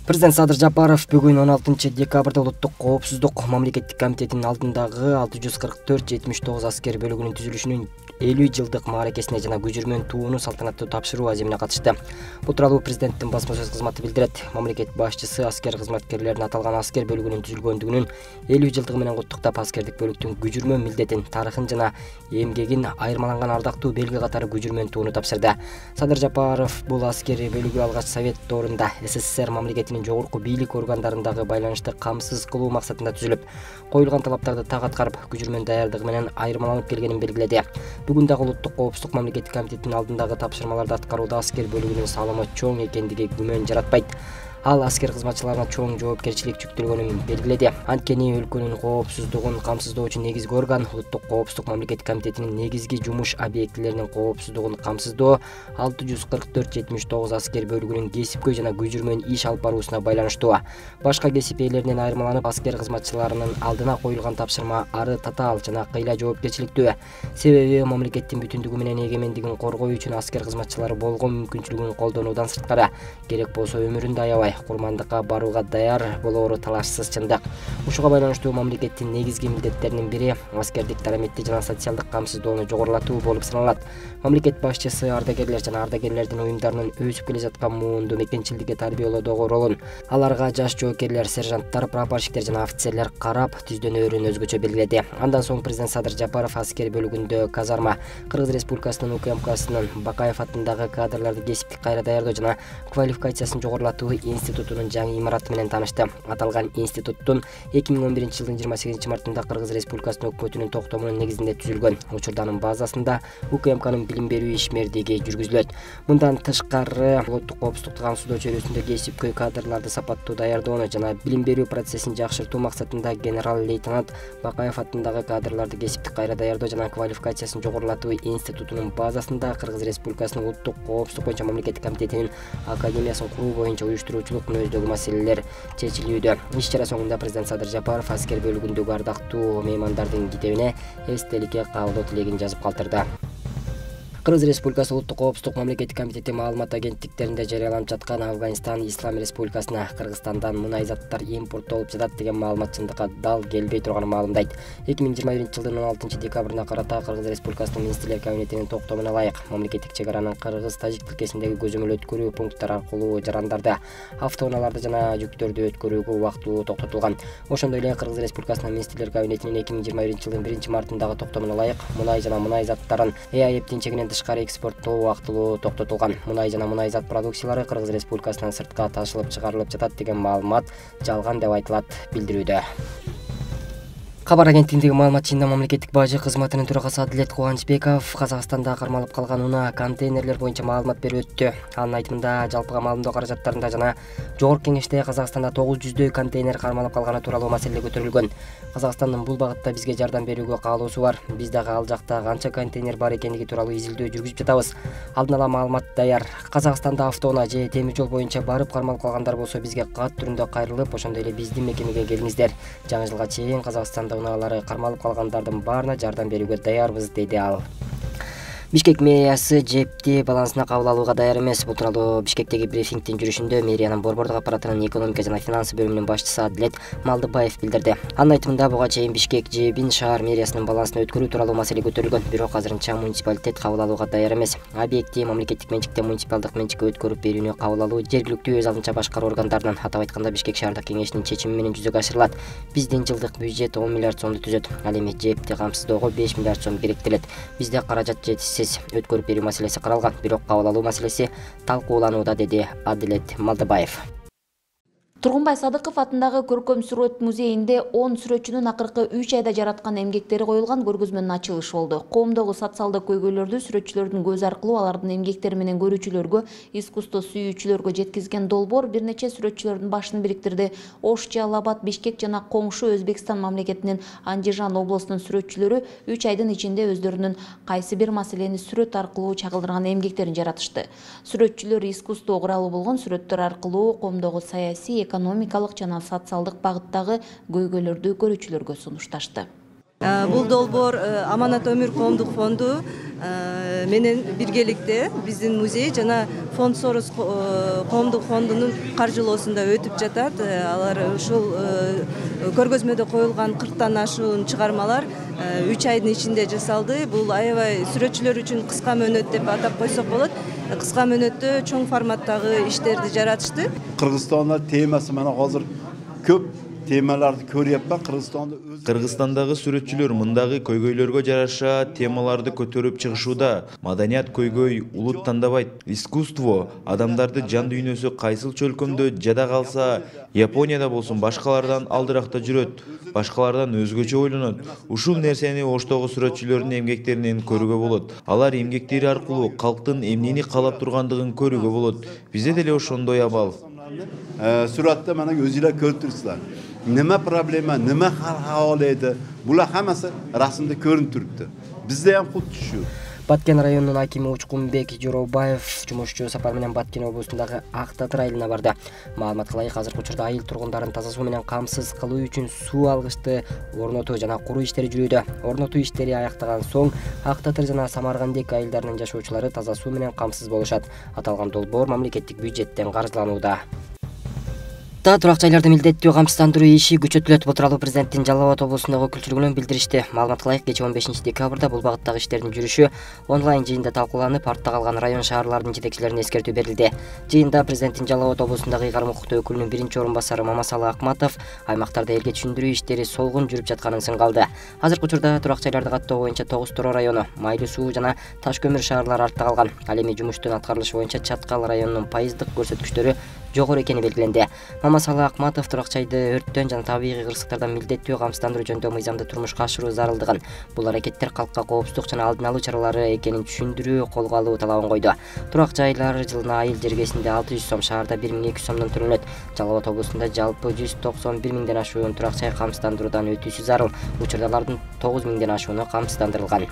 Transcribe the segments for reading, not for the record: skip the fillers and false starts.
Президент Садыр Жапаров бүгүн 16 декабрда Улуттук коопсуздук мамлекеттик комитетинин алдындагы 644-79 аскер бөлүгүнүн түзүлүшүнүн 50 жылдык мааракесине жана көчүрмөн тууну салтанаттуу тапшыруу аземине катышты. Бул тууралуу президенттин басма сөз кызматы билдирет. Мамлекет башчысы аскер кызматкерлерин аталган аскер бөлүгүнүн түзүлгөндүгүнүн 50 жылдыгы менен куттуктап, аскердик бөлүктүн көчүрмөн милдетин, тарыхын жана эмгегин айырмаланган ардактуу белги катары көчүрмөн тууну тапшырды. Садыр Жапаров бул аскер бөлүгү алгач Совет доорунда СССР мамлекетинин жогорку бийлик органдарындагы байланышты камсыз кылуу максатында түзүлүп, коюлган талаптарды так аткарып, көчүрмөн даярдыгы менен айырмаланып келгенин белгиледи. Бүгүн дагы Улуттук коопсуздук мамлекеттик комитетинин алдындагы тапшырмаларды аткарууда аскер бөлүгүнүн салымы чоң экендиги күмөн жаратпайт. Ал аскер кызматчыларына чоң жоопкерчилик жүктөлгөнүн белгиледи. Анткени өлкөнүн коопсуздугун камсыздоочу негизги орган Улуттук коопсуздук мамлекеттик комитетинин негизги жумуш объектилеринин коопсуздугун камсыздоо 644-79 аскер бөлүгүнүн кесипкөй жана көчүрмөн иш алып баруусуна байланыштуу. Башка кесип ээлеринен айырмаланып, аскер кызматчыларынын алдына коюлган тапшырма ары татаал жана кыйла жоопкерчиликтүү. Себеби мамлекеттин бүтүндүгү менен эгемендигин коргоо үчүн аскер кызматчылары болгон мүмкүнчүлүгүн колдонуудан сырткары, керек болсо өмүрүн да аябай курмандыкка барууга даяр болоору талашсыз чындык. Ушуга байланыштуу мамлекеттин негизги милдеттеринин бири аскердик дараметти жана социалдык камсыздоону жогорулатуу болуп саналат. Мамлекет башчысы ардагерлер жана ардагерлердин уюмдарынын өсүп келе жаткан муунду мекенчилдикке тарбиялоодогу ролун, аларга жаш жоокерлер, сержанттар, прапорщиктер жана офицерлер карап түздөнөөрүн өзгөчө белгиледи. Андан соң президент Садыр Жапаров аскер бөлүгүндө казарма, Кыргыз Республикасынын УКМКсынын Бакаев атындагы кадрларды кесиптик кайра даярдоо жана квалификациясын жогорулатуу институтунун жаңы имараты менен таанышты. Аталган институттун 2011 жылдын 28 мартында Кыргыз Республикасынын өкмөтүнүн токтомунун негизинде түзүлгөн. Учурда анын базасында УКМКнын билим берүү ишмердиги жүргүзүлөт. Мындан тышкары улуттук коопсуздук камсыздоо чөйрөсүндө кесипкөй кадрларды сапаттуу даярдоону жана билим берүү процессин жакшыртуу максатында генерал-лейтенант Бакаев атындагы кадрларды кесиптик кайра даярдоо жана квалификациясын жогорулатуу институтунун базасында Кыргыз Республикасынын улуттук коопсуздук боюнча мамлекеттик комитетинин академиясын куруу боюнча уюштуруучулук мүнөздөгү маселелер чечилүүдө. Иш-чара соңунда президент Садыр Жапаров аскер бөлүгүндөгү ардактуу меймандардын китебине эстеликке кабылдоо тилегин жазып калтырды. Кыргыз Республикасы Улуттук коопсуздук мамлекеттик комитети маалымат агенттиктеринде жарыяланып жаткан Афганистан Ислам Республикасына Кыргызстандан мунай заттар импорттолуп жатат деген маалымат чындыкка дал келбей турганын маалымдайт. 2021 жылдын 16 декабрына карата Кыргыз Республикасынын Министрлер кабинетинин токтомуна ылайык мамлекеттик чек аранын кыргыз-тажик тилкесиндеги көзөмөл өткөрүү пункттары аркылуу жарандарды, автоунааларды жана жүктөрдү өткөрүүгө убактылуу токтотулган. Ошондой эле Кыргыз Республикасынын Министрлер кабинетинин 2021 жылдын 1 мартындагы токтомуна ылайык мунай жана мунай заттарын ЭАЭптин чегинен тышкары экспорттоо убактылуу токтотулган. Мунай жана мунай зат продукциялары Кыргыз Республикасынан сыртка ташылып чыгарылып жатат деген маалымат жалган деп айтылат билдирүүдө. Кабар агенттигиндеги маалыматчысында мамлекеттик бажы кызматынын төрагасы Адилет Кубанычбеков Казакстанда кармалып калган унаа контейнерлер боюнча маалымат берип өттү. Анын айтымында, жалпыга маалымдоо каражаттарында жана Жогорку кеңеште Казакстанда 900 контейнер кармалып калганы тууралуу маселе көтөрүлгөн. Казакстандын бул багытта бизге жардам берүүгө каалоосу бар. Биз дагы ал жакта канча контейнер бар экендиги тууралуу изилдөө жүргүзүп жатабыз. Алдын ала маалымат даяр. Казакстанда автоунаа же темир жол боюнча барып кармалып калгандар болсо бизге кат түрүндө кайрылып, ошондой эле биздин мекемеге келиңиздер. Жаңы жылга чейин Казакстанда унаалары кармалып калгандардын баарына жардам берүүгө даярбыз, деди ал. Бишкек мэриясы жепти балансына кабыл алууга даяр эмес. Бул тууралуу Бишкектеги брифингдин жүрүшүндө мэриянын борбордук аппаратынын экономика жана финансы бөлүмүнүн башчысы Адилет Малдыбаев билдирди. Анын айтымында, буга чейин Бишкек жебин шаар мэриясынын балансына өткөрүү тууралуу маселе көтөрүлгөн, бирок азырынча муниципалитет кабыл алууга даяр эмес. Объекти мамлекеттик менчиктен муниципалдык менчикке өткөрүп берүүнү кабыл алуу жергиликтүү өз алдынча башкаруу органдарынын, атап айтканда Бишкек шаардык кеңешинин чечими менен жүзөгө ашырылат. Биздин жылдык бюджет 10 миллиард сомду түзөт. Ал эми жепти камсыздоого 5 миллиард сом керектелет. Бизде каражат жетишсиз. Өткөрүп берүү маселеси каралган, бирок кабыл алуу маселеси талкууланууда, деди Адилет Малдыбаев. Тургунбай Садыков атындагы Көркөм сүрөт музейинде 10 сүрөтчүнүн акыркы 3 айда жараткан эмгектери коюлган көргөзмөнүн ачылышы болду. Коомдогу социалдык көйгөйлөрдү сүрөтчүлөрдүн көзү аркылуу алардын эмгектери менен көрүүчүлөргө, искусство сүйүүчүлөргө жеткизген долбоор бир нече сүрөтчүлөрдүн башын бириктирди. Ош, Жалал-Абад, Бишкек жана коңшу Өзбекстан мамлекетинин Андижан облусунун сүрөтчүлөрү 3 айдын ичинде өздөрүнүн кайсы бир маселени сүрөт аркылуу чагылдырган эмгектерин жаратышты. Сүрөтчүлөр искусство куралы болгон сүрөттөр аркылуу коомдогу саясий, экономикалык жана социалдык багыттагы көйгөйлөрдү көрүүчүлөргө сунушташты. Бул долбоор Аманат Өмүр коомдук фонду менен биргеликте биздин музей жана фонд Сорос коомдук фондунун каржылоосунда өтүп жатат. Алар ушул көргөзмөдө коюлган 40тан ашуун чыгармалар 3 айдын ичинде жасалды. Бул аябай сүрөтчүлөр үчүн кыска мөөнөт деп атап койсок болот. Кыска мөөнөттө чоң форматтагы иштерди жаратышты. Кыргызстанда темасы мана азыр көп темаларды көрүп Кыргызстанда Кыргызстандагы сүрөтчүлөр мындагы көйгөйлөргө жараша темаларды көтөрүп чыгышууда. Маданият көйгөй улут тандабайт. Искусство адамдарды жан дүйнөсү кайсыл чөлкөмдө жада калса, Японияда болсун башкалардан алдыракта жүрөт, башкалардан өзгөчө ойлонот. Ушул нерсени Оштогу сүрөтчүлөрдүн эмгектеринен көрүүгө болот. Алар эмгектери аркылуу калктын эмнени каалап тургандыгын көрүүгө болот. Бизде деле ошондой абал. Сүрөттө мана өзүлөр көрүп турсуздар. Nima problema, nima hal edi? Bular hammasi rasmda ko'rinib turibdi. Bizda ham xuddi shu. Баткен районунун акими Учкунбек Жоробаев жумушчу сапар менен Баткен облусундагы Ак Татыр айылына барды. Маалымат кылайык, азыркы учурда айыл тургундарын таза суу менен камсыз кылуу үчүн суу алгычты орнотуу жана куруу иштери жүрүүдө. Орнотуу иштери аяктаган соң Ак Татыр жана Самаргандек айылдарынын жашоочулары таза суу менен камсыз болушат. Аталган долбоор мамлекеттик бюджеттен каржыланууда. Турак жайларды милдеттүү камсыздандыруу иши күчөтүлөт. Бул тууралуу президенттин Жалал Абад облусундагы өкүлчүлүгүнөн билдиришти. Маалымат кылайык, кечээ 15 декабрда бул багыттагы иштердин жүрүшү онлайн жыйында талкууланып, артта калган район шаарлардын жетекчилерине эскертүү берилди. Жыйында президенттин Жалал Абад облусундагы ыйгарым укуктуу өкүлүнүн биринчи орун басары Мамасалы Акматов аймактарда элге түшүндүрүү иштери солгун жүрүп жатканын сынгалды. Азыркы учурда турак жайларды каттоо боюнча 9 Торо району, Майлуу суу жана Таш көмүр шаарлары артта калган. Ал эми жумуштун аткарылышы боюнча Чаткал районунун пайыздык көрсөткүчтөрү жогору экени белгиленди. Мамасалы Акматов турак жайды өрттөн жана табигый кырсыктардан милдеттүү камсыздандыруу жөнүндө мыйзамды турмушка ашыруу зарылдыгын, бул аракеттер калкка коопсуздук жана алдын алуу чаралары экенин түшүндүрүү колго алуу талабын койду. Турак жайлар жылына айыл жергесинде 600 сом, шаарда 1200 сомдон төлөнөт. Жалал Абад облусунда жалпы 191 миңден ашуун турак жай камсыздандыруудан өтүүсү зарыл. Учурда алардын 9 миңден ашууну камсыздандырылган.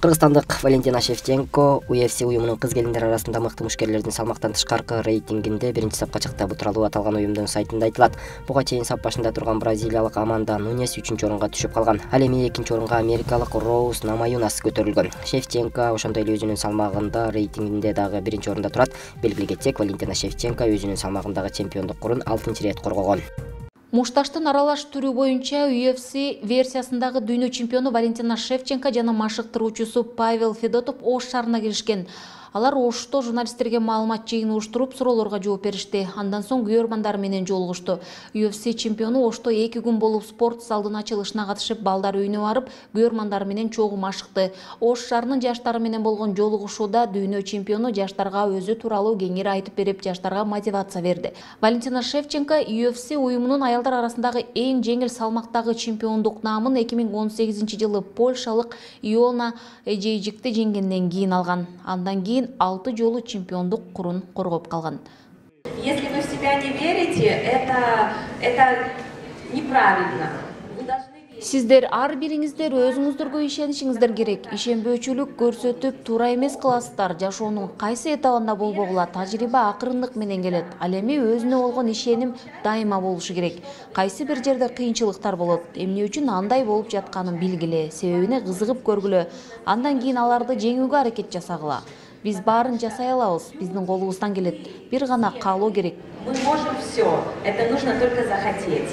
Кыргызстандык Валентина Шевченко UFC уюмунун кыз келиндер арасында мыкты мушкерлердин салмактан тышкаркы рейтингинде биринчи сапка чыкты. Бул тууралуу аталган уюмдун сайтында айтылат. Буга чейин сап башында турган бразилиялык Аманда Нунес 3-орунга түшүп калган. Ал эми 2-орунга америкалык Роуз Намаюнас көтөрүлгөн. Шевченко ошондой эле өзүнүн салмагында рейтингинде дагы биринчи орунда турат. Белгилей кетсек, Валентина Шевченко өзүнүн салмагындагы чемпиондук-курун 6-рет коргогон. Мушташтын аралаш түрү боюнча UFC версиясындагы дүйнө чемпиону Валентина Шевченко жана машыктыруучусу Павел Федотов Ош шаарына келишкен. Алар Ошто журналисттерге маалымат жыйыны уштуруп, суроолорго жооп беришти. Андан соң күйөрмандар менен жолугушту. UFC чемпиону Ошто 2 күн болуп спорт залдын ачылышына катышып, балдар үйүнө барып, күйөрмандар менен чогуу машыкты. Ош шаарынын жаштары менен болгон жолугушууда дүйнө чемпиону жаштарга өзү тууралуу кеңири айтып берип, жаштарга мотивация берди. Валентина Шевченко UFC уюмунун аялдар арасындагы эң жеңил салмактагы чемпиондук наамын 2018-жылы польшалык Иона Эжейжикти жеңгенден кийин алган. Андан кийин 6 жолу чемпиондук курун коргоп калган. Если вы в себя не верите, это неправильно. Сиздер ар бириңиздер өзүңүздөргө ишенишиңиздер керек. Ишенбөөчүлүк көрсөтүп туура эмес кыласыздар. Жашоонун кайсы этабында болбогула тажрыйба акырындык менен келет. Ал эми өзүнө болгон ишеним дайыма болушу керек. Кайсы бир жерде кыйынчылыктар болот. Эмне үчүн андай болуп жатканын билгиле, себебине кызыгып көргүлө. Андан кийин аларды жеңүүгө аракет жасагыла. Биз баарын жасай алабыз, биздин колубуздан келет. Бир гана каалоо керек. Мы можем все. Это нужно только захотеть.